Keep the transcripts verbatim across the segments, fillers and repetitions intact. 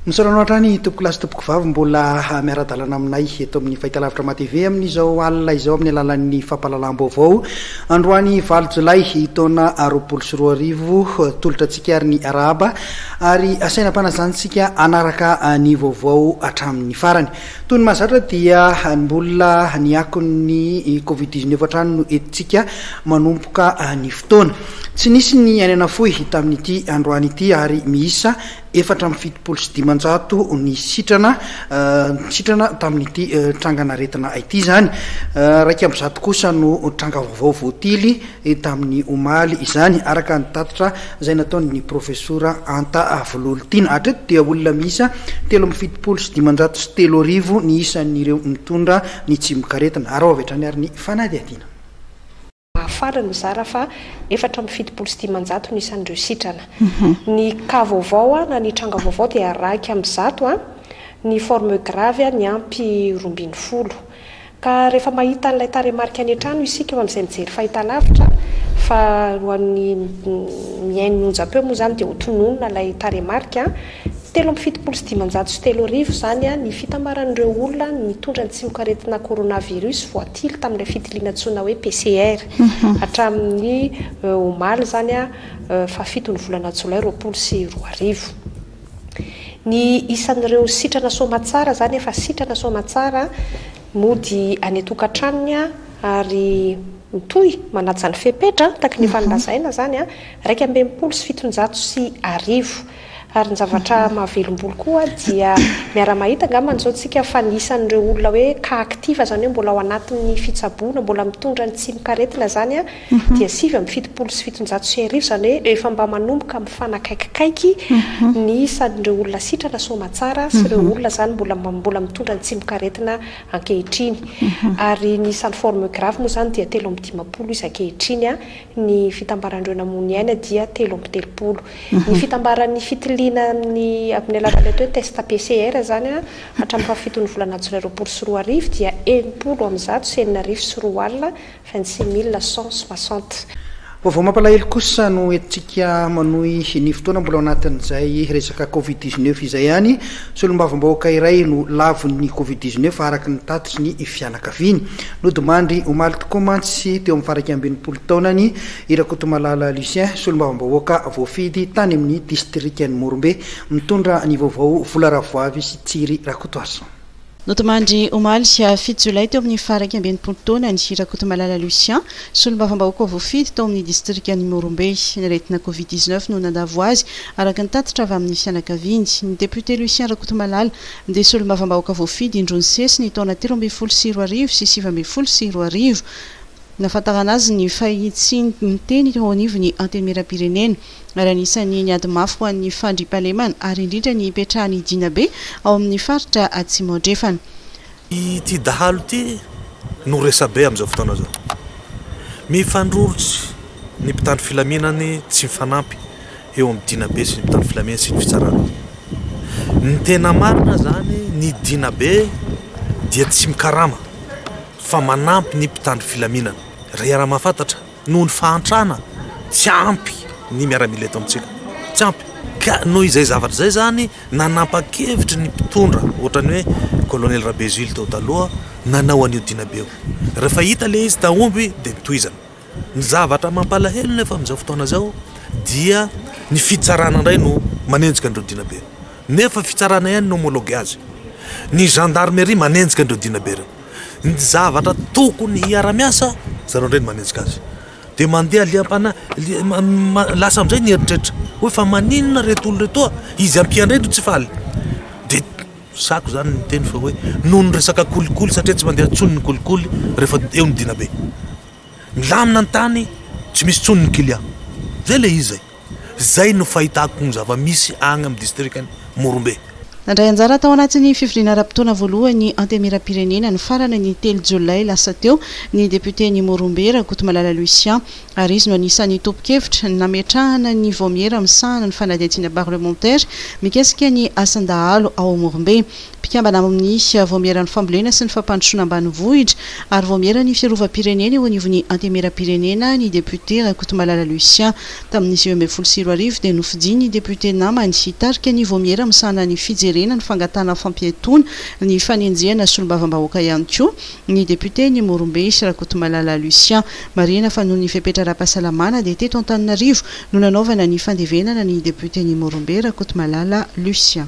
Misaotra anao hatrany, tompoko lahy sy tompoko vavy, mbola miara-dalana aminay eto amin'ny fahitalavitra M A T V amin'izao alina izao, amin'ny alalan'ny fampahalalam-baovao androany valo jolay taona roapolo sy roa arivo. Tolotra antsika ary ny arahaba ary asaina ampanajana hanaraka ny vaovao hatramin'ny farany. Toy ny mahazatra dia mbola ny akon'ny covid dix-neuf hatrany no entintsika manomboka ny fotoana. Tsy nisy ny aina nafoy tamin'ity androany ity ary miisa efatra amby fitopolo sy dimanjato ny sitrana sitrana tamin'ity trangan'aretina ity zany. Raika amby zato kosa no tranga vaovao voatily tamin'ny omaly izany, araka ny tatitra zay nataony profesora Anta Vololitiana. Hatreto dia olona miisa telo amby fitopolo sy dimanjato sy telo arivo ny isan'ireo mitondra ny tsimokaretina ary ao avy hatrany ary ny fanadihadiana. Farany mizara fa efatra amby fitopolo sy dimanjato ny isan'ireo sitrana. Ny cas vaovao a na ny tranga vaovao dia raika amby zato a ny forme grave a ny ampy roambiny folo. Ka rehefa mahita an'ilay tarehimarika any an-trano isika eo amin'izay mijery fahitalavitra, fa hoan'ny mihaino ny onjam-peo moa zany dia hotononina ilay tarehimarika: telo amby fitopolo sy dimanjato sy telo arivo zany a ny fitambaran'ireo olona nitondra ny tsimokaretina coronavirus voatily tamin'ilay fitiliana antsoina hoe P C R hatramin'ny omaly zany a fahafito ny volana jolay roapolo sy roa arivo. Ny isan'ireo sitrana soamatsara zany, efa sitrana soamatsara, mody any an-tokantranony a ary mitohy manaja ny fepetra taky ny efa nylazaina zany a raika amby enimpolo sy fitonjato sy arivo. Ary ny zavatra mahavelombolo koa dia miara-mahita angambany zao tsika fa ny isan'ireo olona hoe cas actif, zany hoe mbola ao anatin'ny fitsaboana, mbola mitondra ny tsimokaretina zany a dia sivy amby fitopolo sy fitonjato sy arivo. Zany hoe efa mba manomboka mifanakaikikaiky ny isan'ireo olona sitrana soamatsara sy ireo olona zany mbola mbola mitondra ny tsimokaretina ankehitriny. Ary ny isan'ny forme grave moa zany dia telo amby dimampolo izy ankehitriny a ny fitambaran'ireo namony aina dia telo amby telopolo. Ny fitambaran'ny fitiliana amin'ny amin'ny alalan'ny atao hoe test P C R zany a hatramin'ny fahafitony volana jolay roapolo sy roa arivo dia enimpolo amby zato sy enina arivo sy roa alina, vingt six mille cent soixante. Vaovao mampalahelo kosa no entintsika manohy ny fotoana, mbola ao anatin'izay resaka covid dix-neuf izay ihany. Solombavambahoaka iray no lavon'ny covid dix-neuf, araka ny tatitry ny fianakaviany. Nodimandry omaly tokoa mantsy teo amin'ny faharaika ambin'ny folo taonany i Rakotomalala Lucien, solombavambahoaka voafidy tany amin'ny distrikan'i Morombe. Mitondra ny vaovao Vola Ravoavy sy Tsiry Rakotoaso. Nodimandry omaly fito jolay teo amin'ny faharaika ambin'ny folo taonany Rakotomalala Lucien, solombavambahoaka voafidy tao amin'ny distrikan'i Morombe. Ny aretina covid dix-neuf no nandavo azy, araka ny tatitra avy amin'ny fianakaviany. Ny député Lucien Rakotomalala dia solombavambahoaka voafidy indroa nisesy ny taona telo ambin'ny folo sy roa arivo sy sivy ambin'ny folo sy roa arivo. Nahafantarana azy ny fahitsiny miteny teo anivon'ny Antenimieram-pirenena ary anisan'ny niady mafy ho an'ny fandriampahalemana ary indrindra ny hipetrahan'ny dinabe ao amin'ny faritra Atsimo Andrefana. Ity dahalo ity no resabe amin'izao fotoana zao. Mifandrorotsy ny mpitandro filaminany, tsy mifanampy eo amin'ny dinabe sy ny mpitandro filaminana sy ny fitsarana. Ny tena marina zany, ny dinabe dia tsy mikarama fa manampy ny mpitandro filaminana. Raha iaraha mahafantatra, noho ny fahantrana, tsy ampy ny miaramila eto amintsika, tsy ampy. Ka noho izay zavatra zay zany, nanapa-kevitry ny mpitondra ohatrany hoe colonel Rabezily tao taloha nanao an'io dinabe io. Rehefa hita le izy taomby dia nitohizana. Ny zavatra mampalahelo nefa amin'izao fotoana zao dia ny fitsarana indray no manenjika an'ireo dinabe, nefa fitsarana ihany no homologue azy. Ny gendarmerie manenjika an'ireo dinabe reo. Ny zavatra tokony hiara-miasa zareo indray no manenjika azy. Dia mandeha liampana lasa amin'izay ny eritreritra hoe fa maninona reto olo retoa izy ampiandray no tsy faly. Dia sako zany ny teny fa hoe noho ny resaka kolikoly, satria tsy mandeha ntsony ny kolikoly rehefa eo ny dinabe. Milamina ny tany, tsy misy ntsony ny client zay. Le izy zay zay no fahitako ny zava-misy agny amin'ny distrikany Morombe. Nandray anjara tao anatin'ny fivoriana ara-potoana voalohany Antenimieram-pirenena ny farana ny telo jolay lasa teo ny député ny Morombe Rakotomalala Lucien, ary izy no anisan'ny tompon-kevitra nametrahana ny vaomiera misahana ny fanadihadiana parlementaire mikasika ny asan-dahalo ao Morombe. Mpikambana amin'ny Vaomieran'ny Fambolena sy ny Fampandrosoana Ambanivohitra ary Vaomieran'ny Fiarovam-pirenena eo anivon'ny Antenimierampirenena ny depiote Rakotomalala Lucien. Tamin'ny sivy ambin'ny folo sy roa arivo dia nofidiny ny depiote namany hitarika ny vaomiera misahana ny fijerena ny fangatahana fampiatoana ny fanenjehana solombavambahoaka ihany koa ny depioten'i Morombe Rakotomalala Lucien. Marihina fa noho ny fepetra ara-pahasalamana dia teto Antananarivo no nanaovana ny fandevenana ny depioten'i Morombe Rakotomalala Lucien.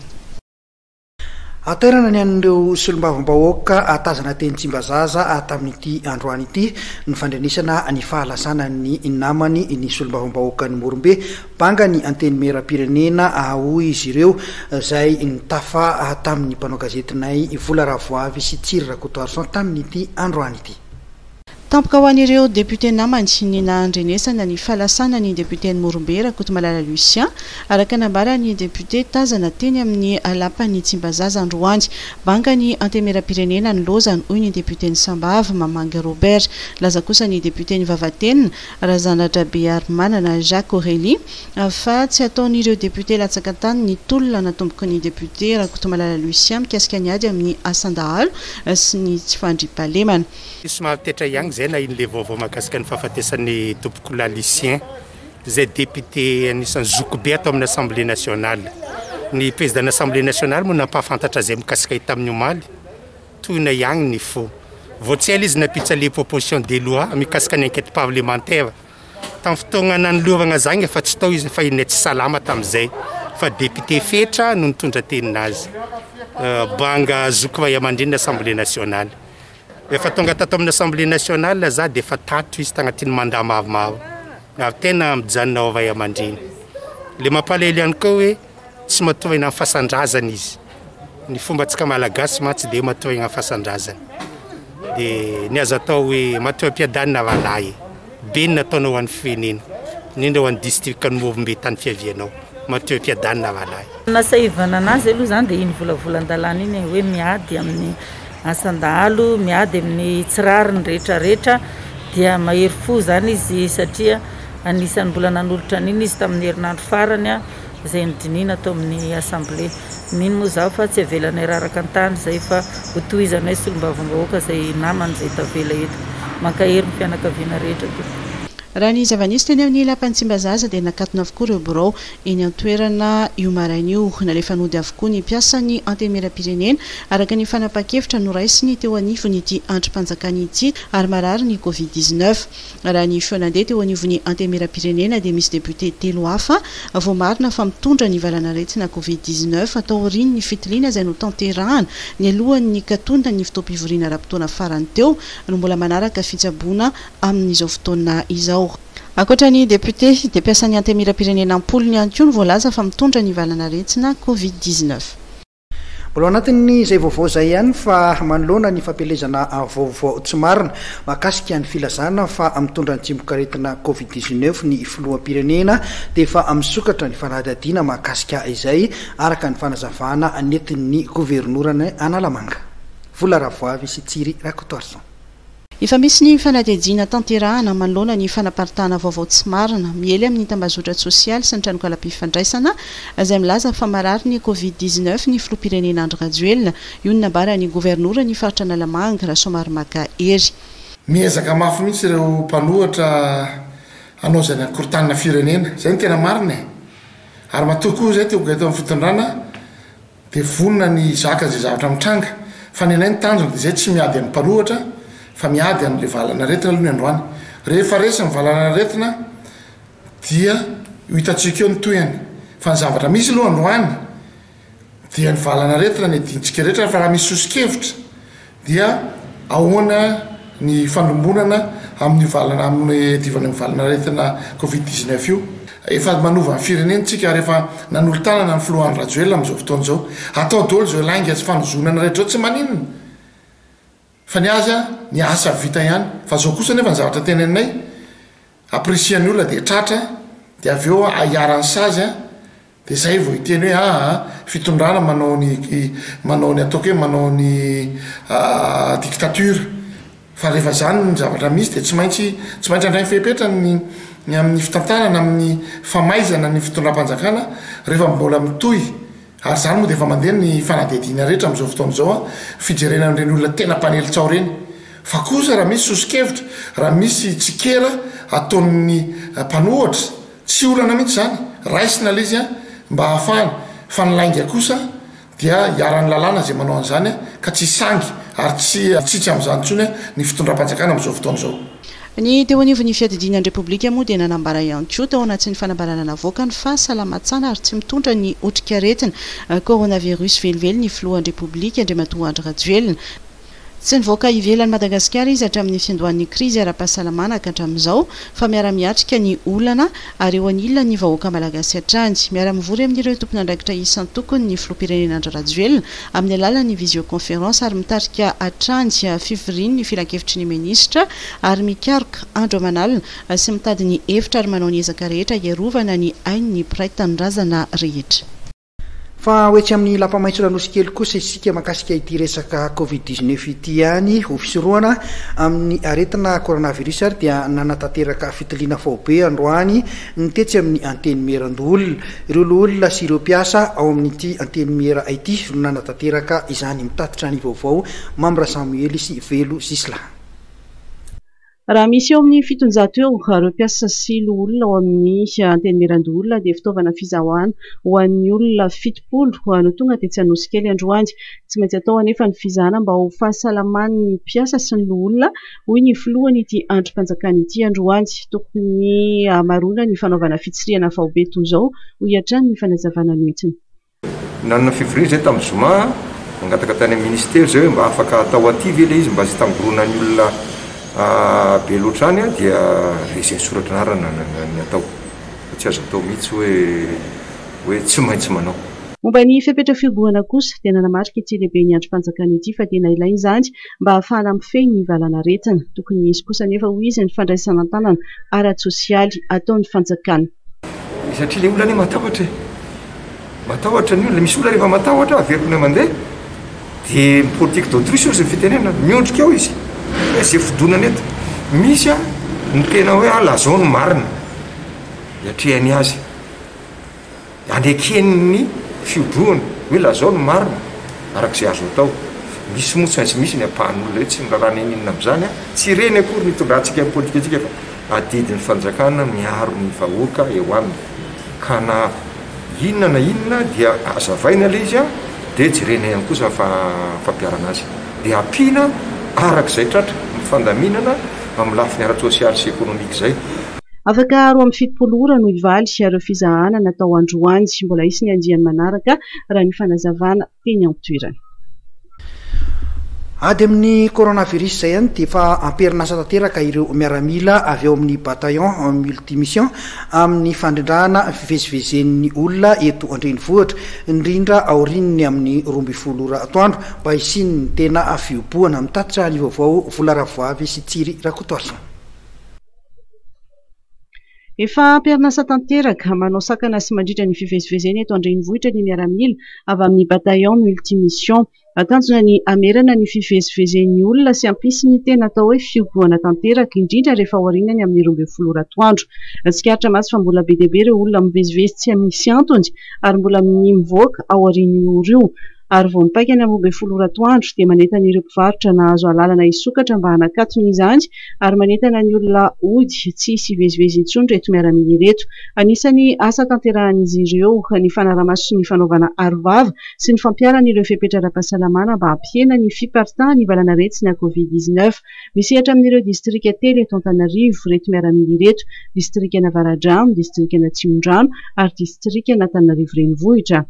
Hatairana ny an'ireo solombavambahoaka tazana teny Tsimbazaza tamin'ity androany ity ny fandrenesana ny fahalasanan'ny namany ny solombavambahoakan'i Morombe. Banga ny Antenimierampirenena, hoy izy ireo, izay nitafa tamin'ny mpanao gazetinay Vola Ravoavy sy Tsiry Rakotoarison tamin'ity androany ity. Tampoka ho an'ireo depiote namany ny nahandrenesana ny fahalasana ny depioten'i Morombe Rakotomalala Lucien, araka nambaran'ny depiote tazana teny amin'ny lapan'ny Tsimbazaza androany. Banga ny Antenimierampirenena ny lozany, hoy ny depioten'i Sambava Mamangy Robert. Laza kosa ny depioten'i Vavatenina Razanadrabearimanana Jacques Aurélie fa tsy ataon'ireo depiote latsaka an-tany ny tolona natomboky ny depiote Rakotomalala Lucien mikasika ny ady amin'ny asan-dahalo sy ny tsy fandriampahalemana. Somary taitra ihany zay na iny le vaovao mahakasika ny fahafatesan'ny tompokolahy Lucien, izay député anisan'ny zokibe ato amin'ny Assemblée nationale. Ny président ny Assemblée nationale moa nampahafantatra zay mikasika hita amin'ny omaly, tohina ihany ny fo. Vao tsy ela izy nampiditra le proposition de loi mikasika ny enquête parlementaire. Tamin'ny fotoana nanolorana zany efa tsy tao izy fa iny tsy salama tamin'izay, fa député Fetra no nitondra teninazy. Banga zoky ray aman-dreny Assemblée nationale. Efa tonga tato amin'ny Assemblée nationale za dia efa tato izy tagnatin'ny mandat maromaro. Ary tena mijanona ao ray aman-dreny. Le mampalahelo ihany koa hoe tsy matohina amin'ny fasan-drazana izy. Ny fombantsika malagasy mantsy dia matohina amin'ny fasan-drazana. Dia ny azo atao hoe matohy am-piadanana rahalahy. Be ny nataonao ho an'ny firenena, indrindra ho an'ny distrikan'i Morombe tany fiavianao. Matohy am-piadanana rahalahy. Nasahivana anazy aloha zany dia iny volavolan-dalàna iny hoe miady amin'ny asan-dahalo, miady amin'ny tsy rariny rehetrarehetra, dia mahery fo zany izy satria anisan'ny mbola nanolotra an'iny izy tamin'ny herinandro farany izay nodinihina tao amin'ny assemblée. Mino moa zaho fa tsy avelanay raraka an-tany izay fa hotohizanay solombavambahoaka izay namany izay tavela eto. Mankahery ny fianakaviana rehetra tompoko. Raha ny zava-nisy teny amin'ny lapan'i Tsimbazaza dia nakatona avokoa ireo birao eny an-toerana io maraina io. Nalefa nody avokoa ny mpiasan'ny Antenimierampirenena araka ny fanapahan-kevitra noraisiny teo anivon'ity andrim-panjakana ity ary marary ny Covid dix-neuf. Raha ny feo nandeha teo anivon'ny Antenimierampirenena dia misy depiote telo hafa voamarina fa mitondra ny valanaretina Covid dix-neuf atao aorian'ny fitiliana izay notanterahana ny alohan'ny katonina ny fotoam-pivoriana ara-potoana farany teo no mbola manaraka fitsaboana amin'izao fotoana izao. Ankoatra ny depiote dia mpiasan'ny Antenimierampirenena am-polony ihany koa no voalaza fa mitondra ny valanaretina Covid dix-neuf. Mbola ao anatin'ny izay vaovao izay ihany fa manoloana ny fampielezana vaovao tsy marina mahakasika ny filazana fa mitondra ny tsimokaretina Covid dix-neuf ny filoham-pirenena dia efa misokatra ny fanadihadiana mahakasika izay araka ny fanazavana nentin'ny governorany Analamanga. Vola Ravoavy sy Tsiry Rakotoarison. Efa misy ny fanadihadiana tanterahana manoloana ny fanaparitahana vaovao tsy marina miely amin'ny tambazotra sosialy sy ny tranokalam-pifandraisana izay milaza fa marary ny Covid dix-neuf ny filoham-pirenena Andry Rajoelina. Io no nambaran'ny governoran'ny faritra Analamanga Rasoamaromaka Hery. Miezaka mafy mihitsy ireo mpanohitra hanao izay nankorotanana firenena. Izay no tena marina e. Ary matoa koa izay teo eto amin'ny fitondrana dia vonona ny hizaka izay zavatra mitranga. Fa ny anay ny tanjona dia izay tsy miady amin'ny mpanohitra fa miady amin'ilay valanaretina aloha ny androany. Rehefa resy ny valanaretina dia ho hitantsika eo ny tohiny. Fa ny zavatra misy aloha androany dia ny valanaretina ny adintsika rehetra, fa raha misy soso-kevitra dia ahoana ny fandrombonana amin'ny valana, amin'ny adivana amin'ny valanaretina Covid dix-neuf io. Efa manova ny firenena tsika ary efa nanolo-tanana ny filoha Andry Rajoelina amin'izao fotoana izao. Atao daholo izao lainga sy fanozonana rehetra izao, tsy maninona. Fa ny azy a, ny asa vita ihany. Fa zao kosa nefa ny zavatra teneninay, aprisian'ny olona dia tratra, dia avy eo ahiaran'ny sazy a, dia zay vao hiteny hoe, ah, fitondrana manao ny, manao ny ataoko hoe manao ny, ah, dictature. Fa rehefa zany ny zavatra misy dia tsy maintsy, tsy maintsy handray ny fepetra ny, ny amin'ny fitantanana, amin'ny famaizana ny fitondram-panjakana rehefa mbola mitohy Ary izany moa dia efa mandeha ny fanadihadiana rehetra amin'izao fotoana izao, fijerena an'ireny olona tena mpanely tsaho ireny. Fa kosa raha misy soso-kevitra, raha misy tsikera ataon'ny mpanohitra, tsy olana mihitsy izany, raisina ilay izy mba hahafahany. Fa ny lainga kosa dia iharan'ny lalàna izay manao an'izany, ka tsy hisangy ary tsy hitsitsy amin'izany intsony ny fitondram-panjakana amin'izao fotoana izao. Ny teo anivon'ny fiadidiana ny Repoblika moa dia nanambara ihany koa tao anatin'ny fanambarana navoakany fa salama tsara ary tsy mitondra ny otrikaretina coronavirus velively ny filohan'ny Repoblika Andriamatoa Andry Rajoelina. Tsy nivoaka ivelan'i Madagasikara izy hatramin'ny fiandohan'ny krizy ara-pahasalamana ka hatramin'izao, fa miara-miatrika ny olana ary eo anilan'ny vahoaka malagasy hatrany. Miara-mivory amin'ireo tompon'andraikitra isan-tokony ny filoham-pirenena Andry Rajoelina amin'ny alalan'ny visioconférence ary mitarika hatrany fivorian'ny filankevitry ny minisitra ary mikaroka andro aman'alina sy mitady ny hevitra ary manao ny ezaka rehetra hiarovana ny ain'ny mpiray tanindrazana rehetra. Fa ho etsy amin'ny Lapa Maitso Anosikely kosa isika mahakasika ity resaka covid dix-neuf ity ihany. Ho fisorohana amin'ny aretina coronavirus ary dia nanatanteraka fitiliana faobe androany ny tetsy amin'ny Antenimierandoholona. Ireo loholona sy ireo mpiasa ao amin'ity Antenimiera ity no nanatanteraka izany. Mitatitra ny vaovao Mamy Rasamoely sy Velo Zisla. Raha misy eo amin'ny fitonjato eo ireo mpiasa sy loholona ao amin'ny Antenimierandoholona dia fitaovana fizahana ho an'ny olona fitopolo no tonga tetsy Anosikely androany. Tsy maintsy atao anefa ny fizahana mba ho fahasalaman'ny mpiasa sy ny loholona, hoy ny filohan'ity andrim-panjakana ity androany. Tokony hamaroana ny fanaovana fitsirihana faobe toy izao, hoy hatrany ny fanazavana noentiny. Nanana fivoriana izay tamin'ny zoma, nangataka tany amin'ny ministera izay hoe mba afaka atao aty ve ilay izy mba tsy tangoronan'ny olona be loatra any, dia izay soratra anarana ny atao. Fa tsy azo atao mihitsy hoe hoe tsy maintsy manao. Momba ny fepetra fihobohana kosa dia nanamarika ity lehibe ny andrim-panjakana ity fa tena ilaina izany mba hahafahana mifehy ny valanaretina. Tokony hisy kosa nefa hoy izy ny fandraisana an-tanana ara-tsosialy ataon'ny fanjakana. Satria ilay olona anie matahotra e. Matahotra ny olona, misy olona rehefa matahotra averina mandeha dia politique d'autruche ozy ny fitenenana, miondrika ao izy. Hoe izay fidonana eto. Misy a ny tena hoe ah, lazao ny marina iatrehany azy, anekeny ny fihobohana hoe lazao ny marina arak'izay azo atao. Misy moa tsy maintsy misy ny ampahan'olona hoe tsy miraharaha n'inona amin'izany a, tsy ireny akory ny itondrantsika ny politika antsika fa adidin'ny fanjakana miaro ny vahoaka eo aminy. Ka na inona na inona dia azavaina ilay izy a, dia jerena ihany kosa fa fampiharana azy. Dia ampiana arak'izay tratra ny fandaminana amin'ny lafiny ara-tsosialy sy ekonomika izay. Afaka roa amby fitopolo ora no hivaly ireo fizahana natao androany. Mbola hisy ny andiany manaraka raha ny fanazavana teny an-toerana. Ady amin'ny coronavirus izay ihany dia efa amperinasa tanteraka ireo miaramila avy ao amin'ny bataillon multimission amin'ny fandrindrana fivezivezen'ny olona eto an-drenivohitra, indrindra aorian'ny amin'ny roa ambin'ny folo ora atoandro mba hisian'ny tena fihobohana. Mitatitra ny vaovao Vola Ravoavy sy Tsiry Rakotoarison. Efa amperinasa tanteraka manao sakana sy mandrindra ny fivezivezena eto an-drenivohitra ny miaramila avy amin'ny bataillon multimission. Tanjona ny hamerana ny fivezivezen'ny olona sy hampisy ny tena atao hoe fihobohana tanteraka, indrindra rehefa aorianany amin'ny roa ambin'ny folo ora atoandro. Tsikaritra mantsy fa mbola be dia be ireo olona mivezivezy tsy misy antony ary mbola mivoaka aorian'io ora io. Ary vao mipaika ny amin'ny roa ambin'ny folo ora atoandro dia manentana ireo mpivarotra nahazo alalana hisokatra mba hanakatona izany ary manentana ny olona hody tsy hisy hivezivezy intsony ireto miaramila ireto. Anisan'ny asa tanterahan'izy ireo ny fanarahamaso sy ny fanaovana arovava sy ny fampiharana ireo fepetra ara-pahasalamana mba hampihena ny fiparitahan'ny valanaretina covid dix-neuf. Misehatra amin'ireo distrika telo eto Antananarivo ireto miaramila ireto: distrikan'Avaradrano, distrikan'Atsimondrano ary distrikan'Antananarivo renivohitra.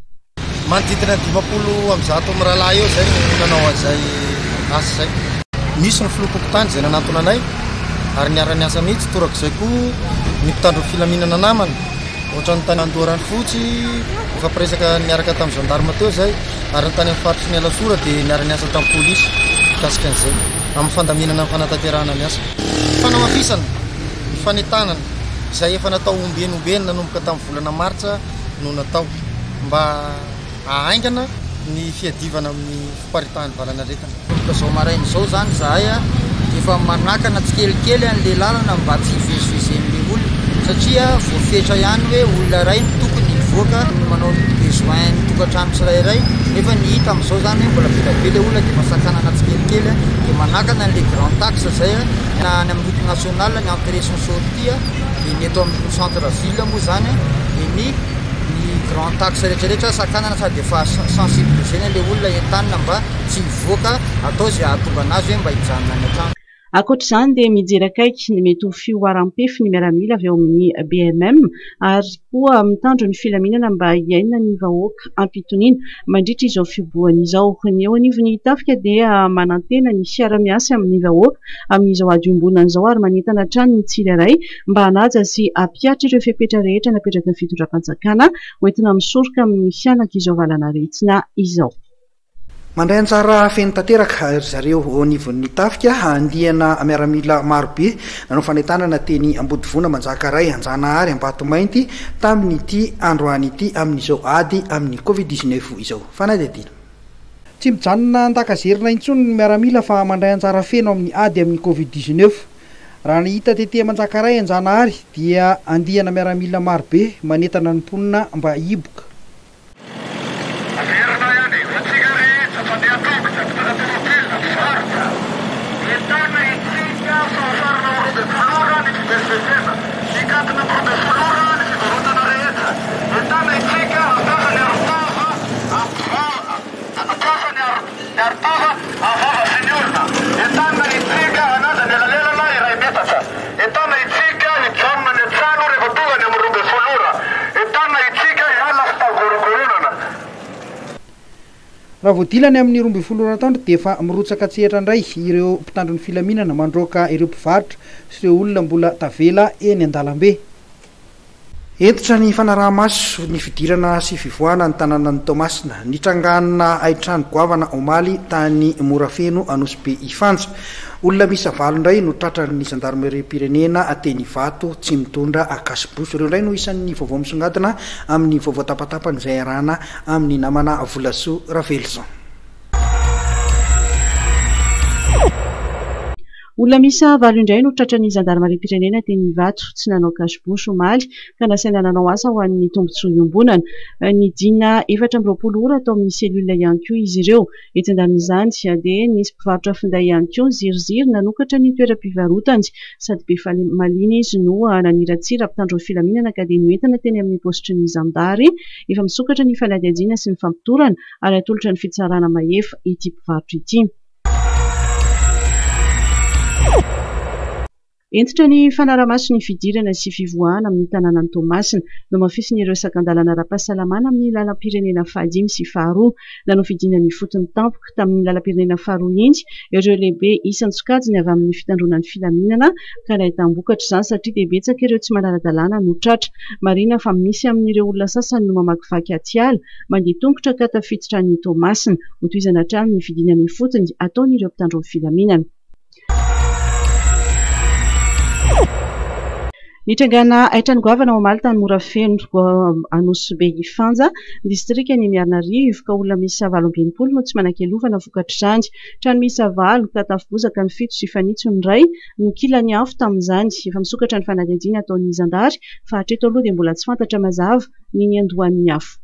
Manodidina ny dimampolo amby zato amin'ny rahalahy eo izay no nanao an'izay asa izay. Nisy ny filoham-pokontany izay nanantona anay ary niara-niasa mihitsy, torak'izay koa ny mpitandro ny filaminana namana. Ohatran'ny tany Andoharanofotsy, nifampiresaka niaraka tamin'ny gendarme teo izay, ary ny tany amin'ny faritry ny Alasora dia niara-niasa tamin'ny polisy mikasika an'izay, amin'ny fandaminana ny fanatanterahana ny asa. Fanamafisana ny fanentanana izay efa natao ombeny ombeny nanomboka tamin'ny volana martsa no natao mba hahaingana ny fiadivana amin'ny fiparitahan'ny valanaretina. Manomboka izao maraina izao izany izahay dia efa manakana tsikelikely an'ilay lalana mba tsy hivezivezen'ilay olona, satria voafetra ihany hoe olona iray no tokony hivoaka. Manao besoin ny tokantrano tsirairay, nefa ny hita amin'izao zany hoe mbola be dia be le olona dia efa sakanana tsikelikely, dia manakana an'le grand axe zay na any amin'ny route nationale ny entrée sy ny sortie, dia ny eto amin'ny centre ville moa zany dia ny ny grand axe rehetrarehetra sakanana sady efa sensibilisena le olona, entanina mba tsy hivoaka, atao izay hahatonga anazy hoe mba hijanona any an-trano. Ankoatra izany dia mijery akaiky ny mety ho fihoaram-pefy ny miaramila avy eo amin'ny B M M ary koa mitandro ny filaminana mba hiaina ny vahoaka ampitoniana mandritra izao fihibohana izao. Ny eo anivon'ny tafika dia manantena ny fiara-miasa amin'ny vahoaka amin'izao ady iombonana izao ary manentana hatrany ny tsirairay mba hanaja sy hampihatra ireo fepetra rehetra napetraky ny fitondram-panjakana hoentina misoroka amin'ny fianak'izao valanaretina izao. Mandray anjara feno tanteraka ry zareo eo anivon'ny tafika, andiana miaramila marobe nanao fanentanana teny Ambodivona, Manjakaray, Anjanahary, Ambatomainty tamin'ity androany ity amin'izao ady amin'ny covid dix-neuf izao. Fanadihadiana. Tsy mijanona an-dakazerina intsony ny miaramila fa mandray anjara feno amin'ny ady amin'ny covid dix-neuf. Raha ny hita tety Manjakaray, Anjanahary dia andiana miaramila marobe manentana ny mponina mba hiboka. Raha voadilany amin'ny roa ambin'ny folo ora atoandro dia efa mirotsaka an-tsehatra indray ireo mpitandro ny filaminana mandroaka ireo mpivarotra sy ireo olona mbola tavela eny an-dalambe. Hentitra ny fanaraha-maso ny fidirana sy fivoahana ny tanànan'i Toamasina. Nitrangana haintrano goavana omaly tany Morafeno Anosibe Ifanja. Olona miisa valo indray no tratran'ny zandarimeriam-pirenena teny Ivato tsy mitondra akasiboso. Ireo indray no isan'ny vaovao misongadina amin'ny vaovao tapatapany izay arahana amin'ny namana Volasoa Ravelison. Olona miisa valo indray no tratran'ny zandarimariam-pirenena teny Ivato tsy nanao cache-bouche omaly ka nasaina nanao asa ho an'ny tombontsoa iombonana. Nidina efatra amby roapolo ora tao amin'ny cellule ihany koa izy ireo. Etsy andanin'izany dia nisy mpivarotra finday ihany koa niziriziry nanokatra ny toeram-pivarotany. Sady be fahamaliana izy no naniratsira mpitandro ny filaminana ka dia noentina teny amin'ny paositry ny zandary. Efa misokatra ny fanadihadiana sy ny fampitorana ary atolotra ny fitsarana mahefa ity mpivarotra ity. Hentitra ny fanaramaso ny fidirana sy fivoahana amin'ny tanànan'i Toamasina. Nomafisin'ireo sakan-dalana ara-pahasalamana amin'ny lalam-pirenena fahadimy sy faharoa. Nanao fidinana ifotony tampoka tamin'ny lalam-pirenena faharoa iny ireo lehibe isan-tsokajiny avy amin'ny fitandroana ny filaminana ka nahitam-bokatra izany satria dia betsaka ireo tsy manara-dalàna no tratra. Marihina fa misy amin'ireo olona sasany no mamakivaky atiala mandeha tongotra ka tafiditra any Toamasina. Hotohizana hatrany ny fidinana ifotony ataon'ireo mpitandro ny filaminana. Nitrangana haintrano goavana omaly tany Morafeno Anosibe Ifanja, distrikan'i Miarinarivo, ka olona miisa valo amby enimpolo no tsy manan-kelovana vokatr'izany. Trano miisa valo ka tafo-bozaka ny fito sy fanitso ny iray no kilan'ny afo tamin'izany. Efa misokatra ny fanadihadiana ataon'ny zandary fa hatreto aloha dia mbola tsy fantatra mazava ny niandohan'ny afo.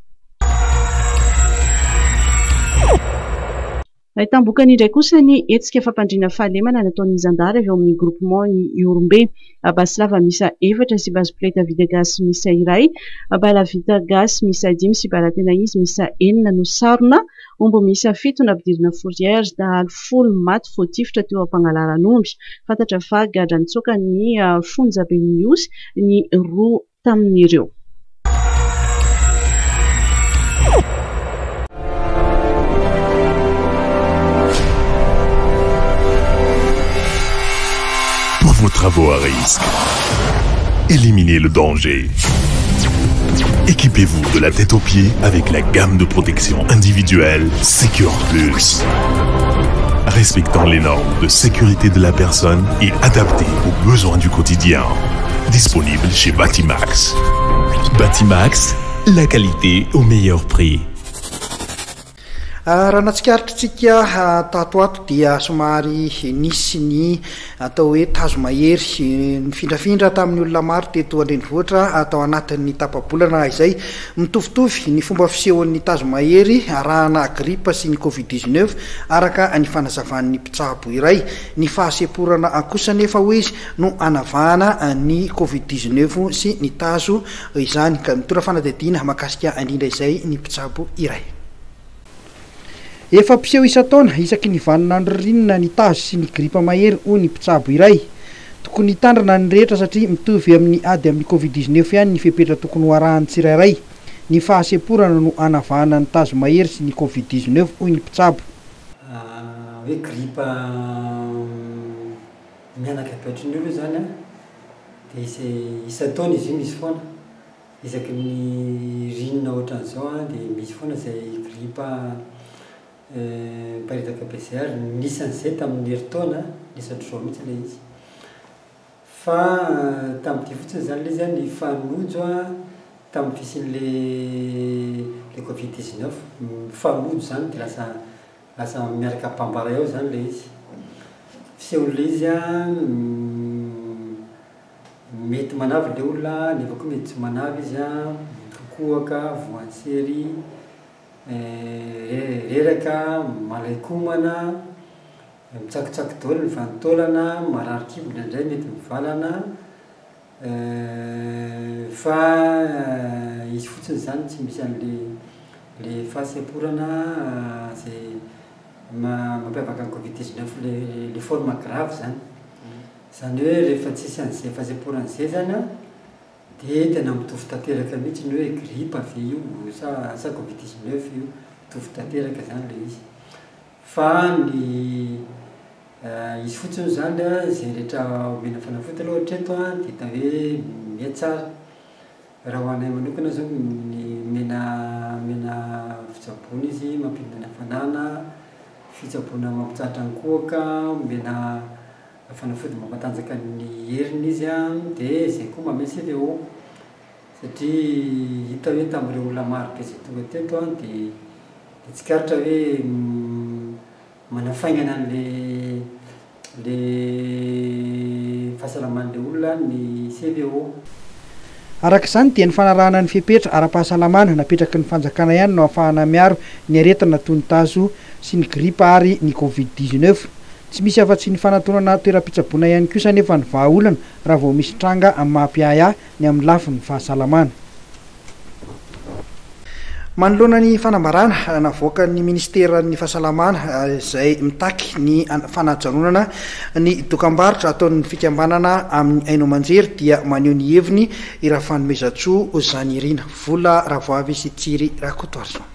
Nahitam-bokany indray kosa ny hetsika fampandriana fahalemana nataon'ny zandary avy eo amin'ny groupement Ihorombe. Basy lava miisa efatra sy basy poleta vita gasy miisa iray, bala vita gasy miisa dimy sy bala tena izy miisa enina no sarona, omby miisa fito nampidirina fourrière, dahalo folo maty voatifitra teo am-pangalaran'omby. Fantatra fa gadra nitsoaka ny fonjaben'ny Ihosy ny roa tamin'ireo. Pour vos travaux à risque, éliminez le danger. Équipez-vous de la tête aux pieds avec la gamme de protection individuelle Secure Plus. Respectant les normes de sécurité de la personne et adaptée aux besoins du quotidien. Disponible chez Batimax. Batimax, la qualité au meilleur prix. Raha natsikaritra tato ato dia somary nisy ny atao hoe tazo mahery nifindrafindra tamin'ny olona maro teto an-drenivohitra atao anatin'ny tapa-bolana izay. Mitovitovy ny fomba fisehon'ny tazo mahery arahana gripa sy ny covid dix-neuf araka ny fanazavan'ny mpitsabo iray. Ny fahasemporana kosa nefa hoy izy no anavahana ny covid dix-neuf sy ny tazo izany, ka mitondra fanadihadiana mahakasika indrindra izay ny mpitsabo iray. Efa mpiseho isan-taona isaky ny vaninandro ririnina ny tazo sy ny gripa mahery hoy ny mpitsabo iray. Tokony hitandrina ny rehetra satria mitovy amin'ny ady amin'ny covid dix-neuf ihany ny fepetra tokony ho arahan'ny tsirairay. Ny fahasemporana no anavahana ny tazo mahery sy ny covid dix-neuf hoy ny mpitsabo. Hoe gripa mianaka be ohatran'io aloha zany a, dia isan-taona izy io misy foana. Isaky ny ririnina ohatran'izao a dia misy foana izay gripa miparitaka be izay, ary nisan'izay tamin'ny herintaona, nisy ohatr'izao mihitsy ilay izy. Fa tamin'ity fotsiny zany ilay izy a, nifanojo a tamin'ny fisian'le le covid dix-neuf, mifanojo zany dia lasa lasa miaraka bambara eo zany ilay izy. Fisehon'ilay izy a, mety manavy ilay olona nefa koa mety tsy manavy izy a, mikokoaka, voan'ny reraka, malaikomana, mitsakotsaky daholo ny vanin-taolana, marary kibo indraindray mety mivalana, fa izy fotsiny zany tsy misy an'le le fahasemporana zay mampiavaka ny covid dix-neuf le le forme grave zany. Zany hoe rehefa tsisy an'izay fahasemporana izay zany a, dia tena mitovy tanteraka mihitsy ny hoe gripa ve io sa sa covid dix-neuf io, mitovy tanteraka zany ilay izy. Fa ny izy fotsiny zany a, izay rehetra omena fanafody aloha hatreto a dia hita hoe mihatsara. Raha ho anay manokana zao ny omena omena fitsaboana izy, mampidina ny hafanana, fitsaboana mampitsahatra ny kohaka, omena fanafody mampatanjaka ny heriny izy a, dia izay koa manome C V O, satria hita hoe tamin'ireo olona maro be izay tonga teto a dia dia tsikaritra hoe manafaingana an'le le fahasalaman'le olona ny C V O. Araka izany dia ny fanarahana ny fepetra ara-pahasalamana napetraky ny fanjakana ihany no ahafahana miaro ny aretina toy ny tazo sy ny gripa ary ny covid dix-neuf. Tsy misy afa-tsy ny fanatonana toeram-pitsaboana ihany kosa nefa ny vahaolana raha vao misy tranga amin'ny mampiahiahy ny amin'ny lafiny fahasalamana. Manoloana ny fanambarana navoakan'ny ministeran'ny fahasalamana izay mitaky ny fanajanonana ny dokam-barotra ataon'ny fikambanana amin'ny haino aman-jery dia maneho ny heviny i Rafanomezantsoa Zanirina Vola Ravoavy sy Tsiry Rakotoarison.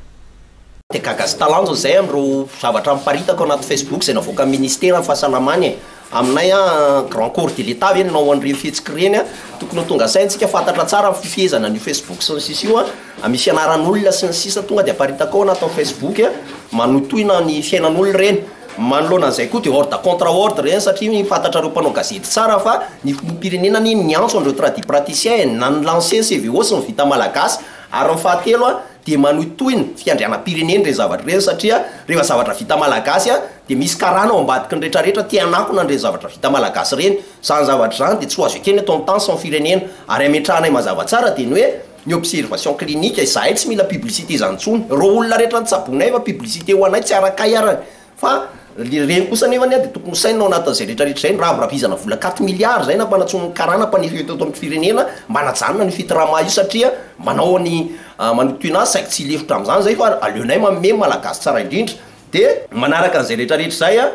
Dia gaga sy talanjo zay am'ireo zavatra miparitaka ao anaty Facebook zay navoaka ministera ny fahasalamany e. Aminay a, grand corps de l'État ve nanao an'ireny fihetsiky ireny a? Tokony ho tonga saintsika, fantatra tsara ny fifehezana ny Facebook sy ny sisa io a, misy anaran'olona sy ny sisa tonga de aparitaka ao anatin'ny Facebook a, manotoina ny fiainan'olona ireny. Manoloana an'izay koa de ordre contre ordre reny, satria fantatra reo mpanao gazety tsara fa ny filoham-pirenena ny niantso an'ireo tradipraticien na ny lancer C V O sy ny vita malagasy. Ary ny fahatelo a, de manotoina fiandrianam-pirenena reny zavatra reny, satria rehefa zavatra vita malagasy a, de misy karana ao ambadiky ny rehetrarehetra tia anakona an'reny zavatra vita malagasy reny. Zany zavatra zany de tsy ho azo ekeny atao amin'ny tany sy ny firenena. Ary ametrahanay mazava tsara de ny hoe ny observation clinique, izahay tsy mila publicité zany ntsony. Reo olona rehetra nitsabonay fa publicité ho anay tsy arakay arany, fa reny kosa nefany a, de tokony hosainina ao anatin'izay rehetrarehetra zay ny raviravizana vola quatre milliards zay nampanantson'ny karana mpanefa teto amin'ny firenena mba najanona ny fitrama io, satria manao ny manotoina azy saiky tsy hilefitra am'zany zay, fa aleonay manome malagasy tsara indrindra. De manaraka an'izay rehetrarehetra zay a,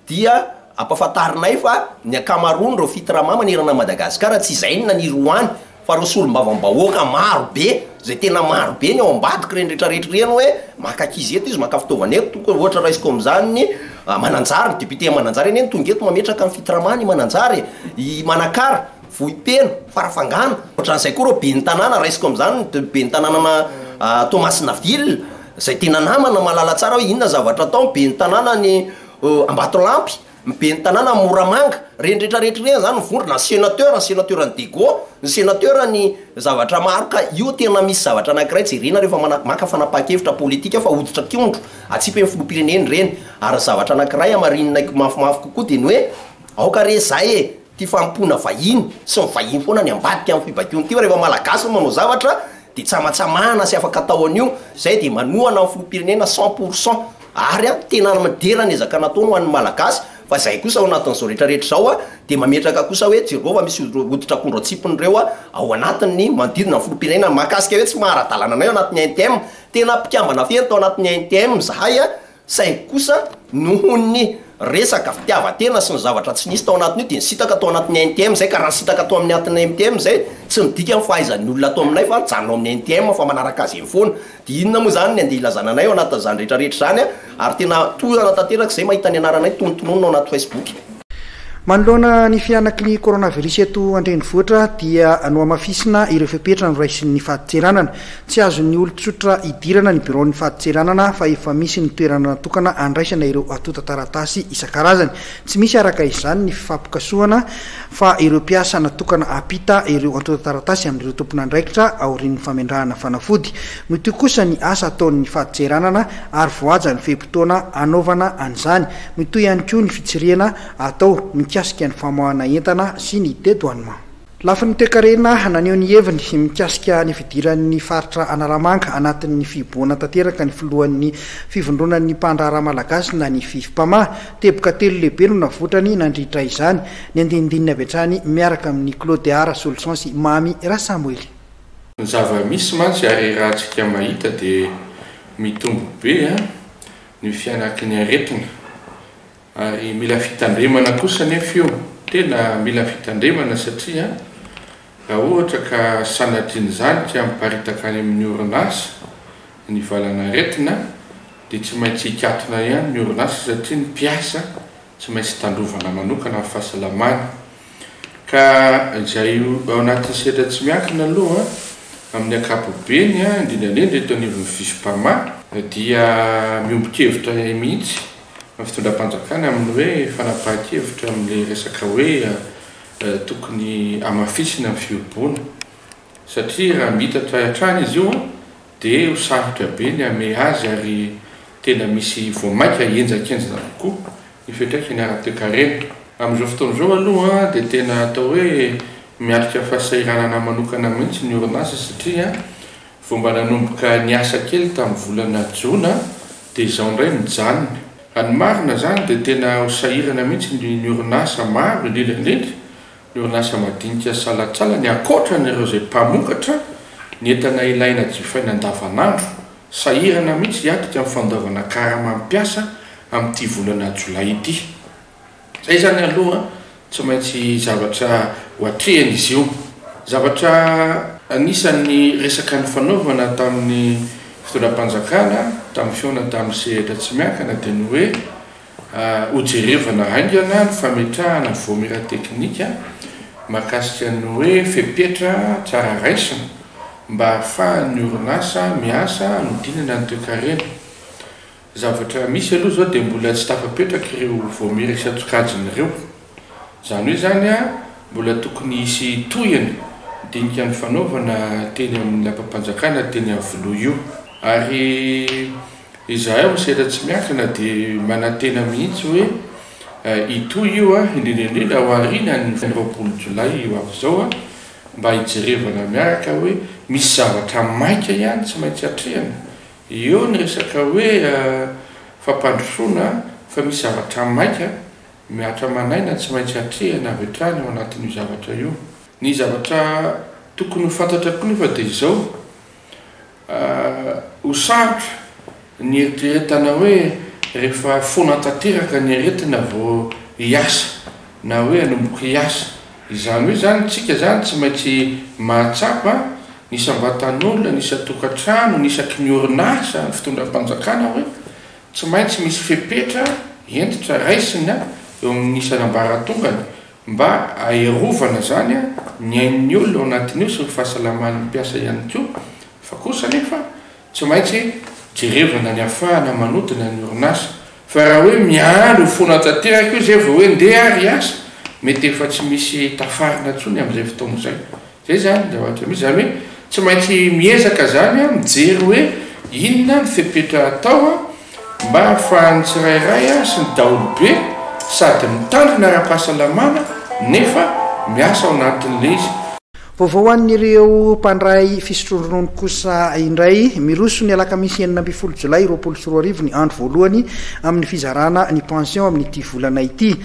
dia ampahafantarinay fa ny ankamaroany reo fitrama manerana Madagasikara tsy izay ny naniry hoany, fa reo solom-bavam-bahoaka maro be zay, tena maro be ny ao ambadiky reny rehetrarehetra reny, hoe maka ankizy eto izy, maka fitaovana eto. Tokony ohatra raisiko am'zany ny Mananjary, ny député Mananjary eny eny tonga eto mametraka ny fitrama ny Mananjary, i Manakara, Vohipeno, Farafangana, ohatran'izay koa reo be ny tanàna. Raisiko am'zany ny be ny tanànana Toamasina ville zay tena namana mahalala tsara hoe inona zavatra atao, be ny tanàna ny Ambatolampy. Ny ben'ny tanàna Moramanga, ireny rehetra rehetra ireny zany mivondrona, ny sénateur, ny sénateur ny Diego, ny sénateur ny zavatra maro. Ka io tena misy zavatra anankiray jerena rehefa maka fanapahan-kevitra politika, fa hoditra akondro atsipy amin'ny filoham-pirenena ireny. Ary ny zavatra anankiray hamarinina mafimafy kokoa dia ny hoe aoka re zay e, ty fanompoana vahiny sy ny vahiny foana ny ambadika amin'ny fibaikoana ity, fa rehefa Malagasy no manao zavatra dia tsamatsamahana sy afaka atao an'io. Zay dia manohana ny filoham-pirenena cent pour cent, ary a tena midera ny ezaka nataony ho an'ny Malagasy. Fa zay kosa ao anatin'izao rehetra rehetra izao a dia mametraka kosa hoe jereo fa misy hoditra akondro atsipiny ireo a ao anatin'ny manodidina ny filoham-pirenena, mahakasika hoe tsy maha-ara-dalàna anay ao anatin'ny A N T M. Tena mpikambana feno tao anatin'ny A N T M zahay a, saingy kosa noho ny resaka fitiavan-tena sy ny zavatra tsy nisy tao anatin'io dia nisintaka tao anatin'ny A N T M zay. Ka raha nisintaka tao amin'ny anatin'ny A N T M zay, tsy midika ny fahaizan'ny olona ato aminay fa mijanona ao amin'ny A N T M fa manaraka azy eny foana. Dia inona moa zany ny andeha hilazana anay ao anatin'izany rehetra rehetra izany a? Ary tena tohana tanteraka izay mahita ny anaranay tonontononina ao anaty Facebook. Manoloana ny fihanaky ny coronavirus eto an-drenivohitra dia nohamafisina ireo fepetra noraisin'ny fadintseranana. Tsy azon'ny olon-tsotra idirana ny biraon'ny fadintseranana fa efa misy ny toerana natokana andraisana ireo antontan-taratasy isan-karazany. Tsy misy araka izany ny fifampikasohana fa ireo mpiasa natokana hampita ireo antontan-taratasy amin'ireo tompon'andraikitra aorian'ny famendrahana fanafody. Mitohy kosa ny asa ataon'ny fadintseranana ary voahaja ny fe-potoana anaovana an'izany. Mitohy ihany koa ny fitsirihana atao mikasika ny famoahana entana sy ny dédouanement. Lafiny toekarena, naneho ny heviny mikasika ny fidiran'ny faritra Analamanga anatin'ny fihibohana tanteraka ny filohan'ny fivondronan'ny mpandraharaha malagasy na ny FIVMPAMA. Teboka telo lehibe no navoitrany nandritra izany. Ny andinindininy avy hatrany miaraka amin'ny Claudia Rasoloson sy Mamy Rasamoely. Ny zava-misy mantsy ary raha tsika mahita dia mitombo be a ny fihanaky ny aretina. Ary mila fitandremana kosa nefa io, tena mila fitandremana satria raha ohatra ka sanatrian'izany ka miparitaka any amin'ny orinasa ny valanaretina dia tsy maintsy hikatona ihany ny orinasa satria ny mpiasa tsy maintsy tandrovana manokana amin'ny fahasalamana. Ka izay ao anatin'ny sehatra tsy miankina aloha amin'ny ankapobeny, indrindra indrindra eto anivon'ny FIVMPAMA, dia miombon-kevitra mihitsy ny fitondram-panjakana amin'ny hoe fanapahan-kevitra amin'ilay resaka hoe tokony hamafisina ny fihibohana, satria raha mitatra hatrany izy io dia ho sarotra be ny hamehy azy ary tena misy vao mainka henjakenjana kokoa ny fiantraikany ara-toekarena. Amin'izao fotoana izao aloha dia tena atao hoe miatrika fahasahiranana manokana mihitsy ny orinasa satria vao mba nanomboka niasa kely tamin'ny volana jona dia izao indray mijanona. Raha ny marina zany dia tena ho sahirana mihitsy ny orinasa maro, indrindra indrindra ny orinasa madinika salantsalany, ankoatran'ireo izay mpamokatra ny entana ilaina jifaina andavanandro. Sahirana mihitsy hiatrika amin'ny fandoavana karama mpiasa amin'ity volana jolay ity. Zay zany aloha tsy maintsy zavatra ho atrehana izy io. Zavatra anisan'ny resaka ny fanaovana tamin'ny fitondram-panjakana, tamin'ny fihaonana tamin'ny sehatra tsy miankina dia ny hoe hojerevana haingana ny fametrahana vaomiera teknika mahakasika ny hoe fepetra tsara raisina mba ahafahan'ny orinasa miasa hanodinana ny toekarena. Zavatra misy aloha izao dia mbola tsy tafapetraka ireo vaomiera isan-tsokajiny ireo. Izany hoe zany a mbola tokony hisy tohiny dinika ny fanaovana teny amin'ny lapam-panjakana teny Iavoloha io. Ary izahay amin'ny sehatra tsy miankina dia manantena mihitsy hoe hitohy io a, indrindra indrindra ao aorian'ny roapolo jolay io avy izao a, mba hijerevana miaraka hoe misy zavatra maika ihany tsy maintsy atrehana. Eo ny resaka hoe fampandrosoana fa misy zavatra maika mihatra manaina tsy maintsy atrehana avy hatrany ao anatin'io zavatra io. Ny zavatra tokony ho fantatra koa nefa dia izao, ho sarotra ny eritreretana hoe rehefa foana tanteraka ny aretina vao hiasa na hoe hanomboka hiasa. Izany hoe zany tsika zany tsy maintsy mahatsapa ny isam-batan'olona, ny isan-tokantrano, ny isaky ny orinasa, ny fitondram-panjakana hoe tsy maintsy misy fepetra hentitra raisina eo amin'ny isan'ambaratongany mba aerovana zany ny ain'ny olona ao anatin'io sy ny fahasalaman'ny mpiasa ihany koa. Fa kosa nefa tsy maintsy jerevana ny ahafahana manodina ny orinasa, Fa raha hoe miandry ho foana tanteraka io zay vao hoe ndeha ary hiasa, mety efa tsy misy tafarina intsony amin'izay fotoana izay. Zay zany ny zavatra misy, zany hoe tsy maintsy miezaka zany a mijery hoe inona ny fepetra atao a mba ahafahan'ny tsirairay a sy ny daholobe sady mitandrina ara-pahasalamana nefa miasa ao anatin'ilay izy. Vaovao ho an'ireo mpandray fisotroan-dronono kosa indray, miroso ny alakamisy enina ambin'ny folo jolay roapolo sy roa arivo ny andro voalohany amin'ny fizarana ny pension amin'ity volana ity.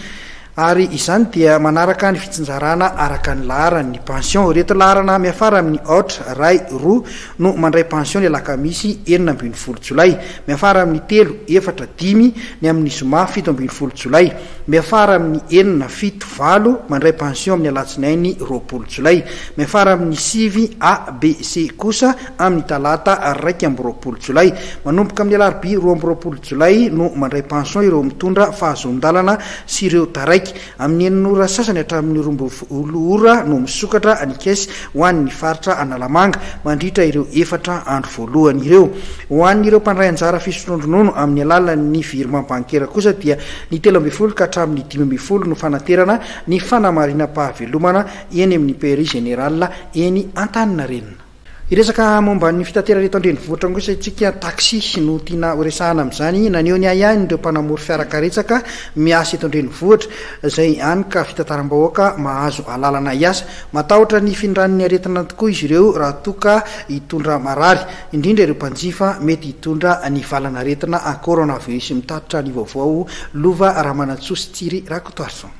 Ary izany dia manaraka ny fitsinjarana araka ny laharan'ny pension. Ireto laharana miafara amin'ny aotra, iray, roa no mandray pension ny alakamisy enina ambin'ny folo jolay. Miafara amin'ny telo, efatra, dimy ny amin'ny zoma fito ambin'ny folo jolay. Miafara amin'ny enina, fito, valo mandray pension amin'ny alatsinainy roapolo jolay. Miafara amin'ny sivy, A, B, C kosa amin'ny talata iraika amby roapolo jolay. Manomboka amin'ny alarobia roa amby roapolo jolay no mandray pension ireo mitondra fahazoan-dalana sy ireo taraiky. Amin'ny enina ora sasany hatramin'ny roa ambin'ny folo ora no misokatra ny caisse ho an'ny faritra Analamanga mandritra ireo efatra andro voalohany ireo. Ho an'ireo mpandray anjara fisotroan-dronono amin'ny alalan'ny virement bancaire kosa dia ny telo ambin'ny folo ka hatramin'ny dimy ambin'ny folo no fanaterana ny fanamarinam-pahavelomana eny amin'ny P R I Général eny Antaninarenina. Hiresaka momba ny fitaterana eto an-drenivohitra kosa isika, taxi no tiana horesahana amin'izany. Naneho ny ahiahiny ireo mpanamory fiarakaretsaka miasa eto an-drenivohitra izay hany ka fitantaram-bahoaka mahazo alalana hiasa. Matahotra ny findran'ny aretina tokoa izy ireo raha toa ka hitondra marary, indrindra ireo mpanjifa mety hitondra ny valan'aretina coronavirus. Mitatitra ny vaovao Lova Ramanantsoa sy Tsiry Rakotoarison.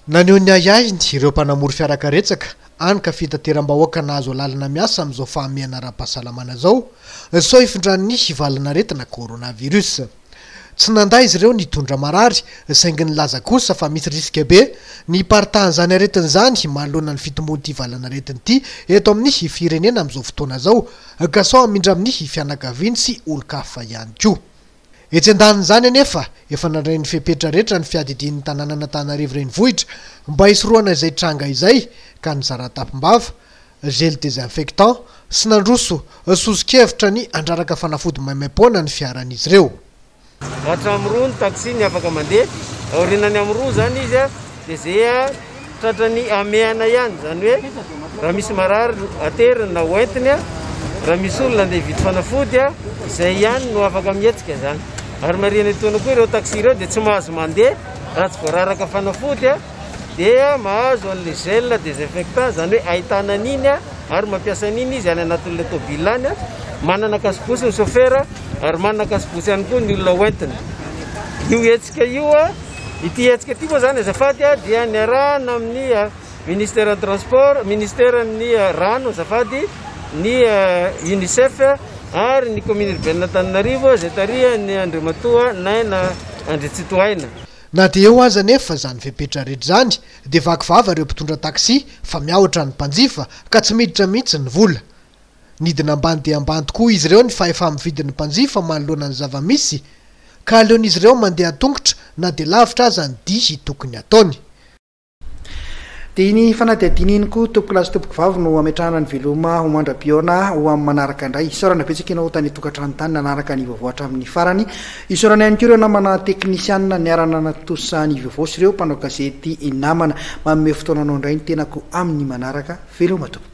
Naneho ny ahiahiny ireo mpanamory fiarakaretsaka hany ka fitateram-bahoaka nahazo alalana miasa amin'izao fahamehana ara-pahasalamana izao, sao hifindran'ny valan'aretina coronavirus. Tsy nandà izy ireo nitondra marary, saingy nilaza kosa fa misy risque be ny hiparitahan'izany aretina izany manoloana ny fitombon'ity valan'aretina ity eto amin'ny firenena amin'izao fotoana izao, ka sao hamindra amin'ny fianakaviany sy olon-kafa ihany koa. Etsy an-danin'izany anefa, efa nandray ny fepetra rehetra ny fiadidian'ny tanànan'Antananarivo renivohitra mba hisorohana izay tranga izay, ka nizara tampom-bava, gel désinfectant sy nandroso soso-kevitra ny handraraka fanafody maimaimpoana ny fiaran'izy ireo. Hatramin'ny roa ny taxi ny afaka mandeha, aorianany amin'ny roa zany izy a, dia zay a tratrany hamehana ihany, zany hoe raha misy marary ateriny na hoentiny a, raha misy olona andeha hividy fanafody a, izay ihany no afaka mihetsika zany. Ary marihana etoana koa ireo taxi ireo dia tsy mahazo mandeha raha tsy voararaka fanafody a, dia mahazo an'ilay gel désinfectant, zany hoe ahitana an'iny a, ary mampiasa an'iny izy any anatin'ilay tôbila any a. Manana kasibosy ny chauffeur ary manana kasibosy ihany koa ny olona hoentina. Io hetsika io a, ity hetsika ity moa zany azafady a, dia niarahana amin'ny ministère ny transport, ministère ny rano azafady, ny UNICEF ary ny commune urbaine Antananarivo izay tarihan'ny Andriamatoa Naina Andriantsitohaina. Na dia eo aza anefa izany fepetra rehetra izany, dia vaky vava ireo mpitondra taxi fa miahotra ny mpanjifa ka tsy miditra mihitsy ny vola. Nidina ambany dia ambany tokoa izy ireo ny fahefa-mividin'ny mpanjifa manoloana ny zava-misy, ka aleon'izy ireo mandeha an-tongotra na dia lavitra aza ny dihy tokony ataony. Dia iny fanadihadiana iny koa tompoko lahy sy tompoko vavy no ametrahana ny veloma ho mandra-pihaona ho amin'ny manaraka indray. Isaorana betsaka ianao tany an-tokantrano tany nanaraka ny vaovao hatramin'ny farany. Isaorana ihany koa ireo namana teknisianina niarana natosa ny vaovao sy ireo mpanao gazety namana. Manome fotoana anao indray ny tenako amin'ny manaraka. Veloma tompoko.